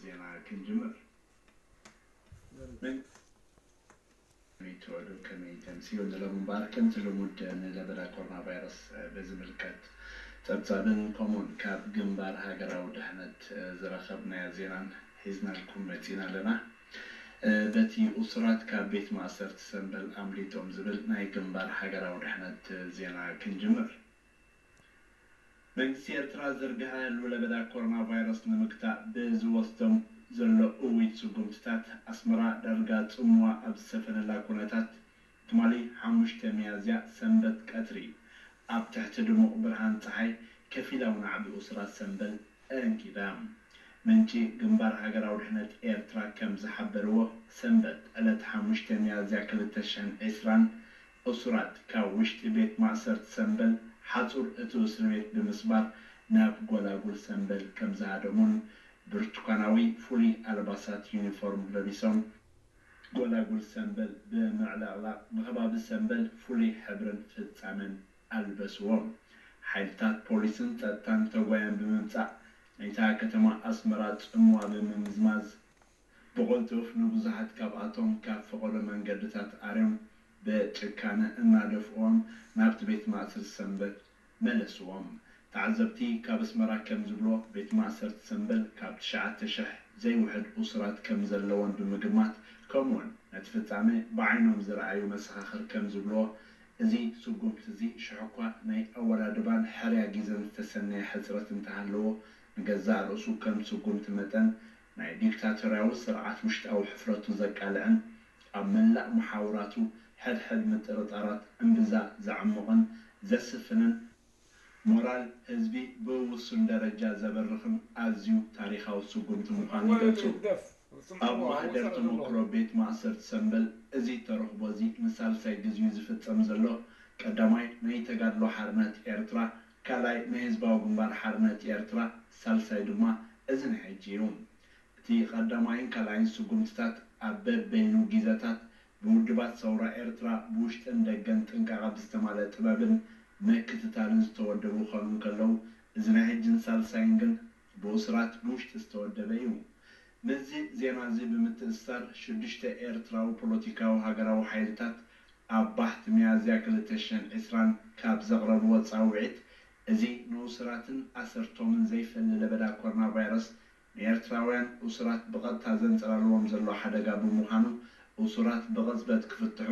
ዜና ክንጅምር። ምን ሚትወዱ ከመይ ተምስዩ ንሎም እምበኣር ከምቲ ልሙድ ንለበዳ ኮሮና ቫይረስ በዝምልከት ጸብጻብን ከምኡውን ካብ ግንባር ሃገራዊ ድሕነት ዝረኸብናዮ ዜናን ሒዝናልኩም መጺና ኣለና። በቲ እሱራት ካብ ቤት ማእሰርቲ ሰምበል ኣምሊጦም ዝብል ናይ ግንባር ሃገራዊ ድሕነት ዜና ክንጅምር። መንግስቲ ኤርትራ ዝርግሐ ህልው ለበዳ ኮሮና ቫይረስ ንምግታእ ብዝወስዶም ዘሎ እዊት ስጉምትታት ኣስመራ ዳርጋ ጽምዋ ኣብ ዝሰፈነላ ኩነታት ትማሊ ሓሙሽተ ሚያዝያ ሰንበት ቀትሪ ኣብ ትሕቲ ድሙቕ ብርሃን ጸሓይ ከፊላዊ ናዕቢ እሱራት ሰምበል ኣንጊዳ። ምንጪ ግንባር ሃገራዊ ድሕነት ኤርትራ ከም ዝሓበርዎ ሰንበት ዕለት ሓሙሽተ ሚያዝያ ክልተ ሽሕን ዕስራን እሱራት ካብ ውሽጢ ቤት ማእሰርቲ ሰምበል ሓጹር እቲ እስሪ ቤት ብምስባር ናብ ጎላጉል ሰምበል ከም ዝሃደሙን ብርቱካናዊ ፍሉይ ኣልባሳት ዩኒፎርም ለቢሶም ጎላጉል ሰምበል ብምዕላቕላቕ ንከባቢ ሰምበል ፍሉይ ሕብርን ፍጻመን ኣልበስዎም። ሓይልታት ፖሊስን ጸጥታን ተጓዮም ብምምጻእ ናይታ ከተማ ኣስመራ ጽምዋ ብምምዝማዝ ብቕልጡፍ ንብዙሓት ካብኣቶም ካብ ፈቐዶ መንገድታት ኣርዮም ብጭካነ እናደፍእዎም ናብቲ ቤት ማእሰርቲ ሰንበል መለስዎም። ተዓዘብቲ ካብ ኣስመራ ከም ዝብልዎ ቤት ማእሰርቲ ሰንበል ካብ ትሽዓተ ሽሕ ዘይውሕድ እሱራት ከም ዘለዎን ብምግማት ከምኡውን ነቲ ፍጻመ ብዓይኖም ዝረኣዩ መሰኻኽር ከም ዝብልዎ እዚ ስጉምቲ እዚ ሽሕኳ ናይ ኣወዳድባን ሕርያ ግዜን ዝተሰነየ ሕጽረት እንተሃለዎ ንገዛእ ርእሱ ከም ስጉምቲ መጠን ናይ ዲክታቶርያዊ ስርዓት ውሽጣዊ ሕፍረቱ ዘቃልዕን ኣብ መላእ መሓውራቱ ሕድሕድ ምጥርጣራት እምብዛ ዘዕሙቕን ዘስፍንን ሞራል ህዝቢ ብውሱን ደረጃ ዘበርኽን ኣዝዩ ታሪኻዊ ስጉምቲ ምዃኑ ይገልጹ። ኣብ ማህደር ተመክሮ ቤት ማእሰርቲ ሰምበል እዚ ተረኽቦ እዚ ንሳልሳይ ግዜኡ ዝፍጸም ዘሎ ቀዳማይ ናይ ተጋድሎ ሓርነት ኤርትራ ካልኣይ ናይ ህዝባዊ ግንባር ሓርነት ኤርትራ ሳልሳይ ድማ እዚ ናይ ሕጂ እዩ። እቲ ቀዳማይን ካልኣይን ስጉምትታት ኣብ በበይኑ ጊዘታት ብውድባት ሰውራ ኤርትራ ብውሽጥን ደገን ጥንቃቐ ብዝተማልአ ጥበብን ምክትታልን ዝተወደቡ ክኾኑ እንከለዉ እዚ ናይ ሕጅን ሳልሳይን ግን ብእሱራት ብውሽጢ ዝተወደበ እዩ። ምስዚ ዜና እዚ ብምትእስሳር ሽዱሽተ ኤርትራዊ ፖለቲካዊ ሃገራዊ ሓይልታት ኣብ ባሕቲ ሚያዝያ ክልተ ሽሕን ዕስራን ካብ ዘቕረብዎ ጻውዒት፣ እዚ ንእሱራትን ኣሰርቶምን ዘይፈሊ ለበዳ ኮሮና ቫይረስ ንኤርትራውያን እሱራት ብቐጥታ ዘንጸላልዎም ዘሎ ሓደጋ ብምዃኑ እሱራት ብቕጽበት ክፍትሑ፣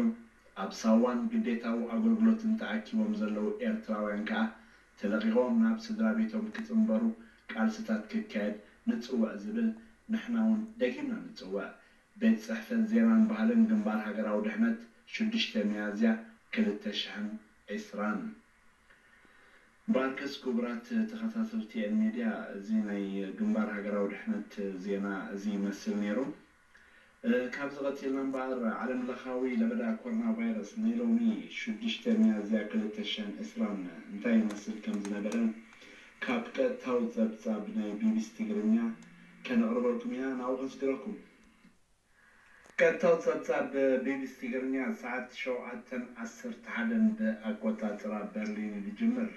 ኣብ ሳዋን ግዴታዊ ኣገልግሎትን ተኣኪቦም ዘለዉ ኤርትራውያን ከኣ ተለቒቖም ናብ ስድራ ቤቶም ክጽንበሩ ቃልስታት ክካየድ ንጽውዕ ዝብል ንሕና እውን ደጊምና ንጽውዕ። ቤት ጽሕፈት ዜናን ባህልን ግንባር ሃገራዊ ድሕነት ሽዱሽተ ሚያዝያ ክልተ ሽሕን ዕስራን። ባርከስ ክቡራት ተኸታተልቲ ኤን ሚድያ፣ እዚ ናይ ግንባር ሃገራዊ ድሕነት ዜና እዚ ይመስል ነይሩ። እ፣ ካብዚ ቀጺልና እምበኣር ዓለም ለኻዊ ለበዳ ኮሮና ቫይረስ ናይ ሎሚ ሽዱሽተ ሚያዝያ ክልተ ሽሕን ዕስራን እንታይ ይመስል ከም ዝነበረ ካብ ቀጥታዊ ጸብጻብ ናይ ቢቢሲ ትግርኛ ከነቕርበልኩም ኢና። ናብኡ ከስግረኩም። ቀጥታዊ ጸብጻብ ቢቢሲ ትግርኛ ሰዓት ሸውዓተን ዓሰርተ ሓደን ብኣቆጻጽራ በርሊን ይጅምር።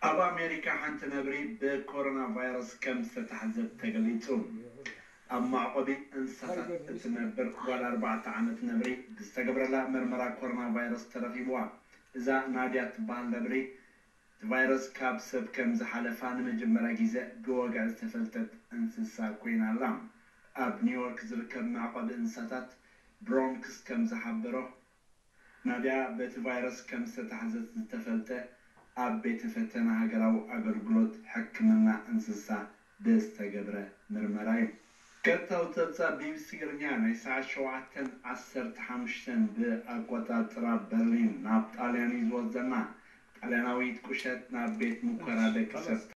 ኣብ ኣሜሪካ ሓንቲ ነብሪ ብኮሮና ቫይረስ ከም ዝተታሕዘት ተገሊጹ። ኣብ መዕቆቢ እንስሳታት እትነብር ጓል ኣርባዕተ ዓመት ነብሪ ብዝተገብረላ መርመራ ኮሮና ቫይረስ ተረኺብዋ። እዛ ናድያ ትበሃል ነብሪ እቲ ቫይረስ ካብ ሰብ ከም ዝሓለፋ ንመጀመርያ ግዜ ብወግዒ ዝተፈልጠት እንስሳ ኮይና ኣላ። ኣብ ኒውዮርክ ዝርከብ መዕቆቢ እንስሳታት ብሮንክስ ከም ዝሓበሮ፣ ናድያ በቲ ቫይረስ ከም ዝተታሕዘት ዝተፈልጠ ኣብ ቤተ ፈተነ ሃገራዊ ኣገልግሎት ሕክምና እንስሳ ብዝተገብረ ምርመራ እዩ። ቀጥታዊ ጸብጻብ ቢቢሲ ትግርኛ ናይ ሰዓት ሸውዓተን ዓሰርተ ሓሙሽተን ብኣቆጻጽራ በርሊን ናብ ጣልያን እዩ ዝወስደና። ጣልያናዊት ቁሸት ናብ ቤት ሙከራ ደቂ ሰብ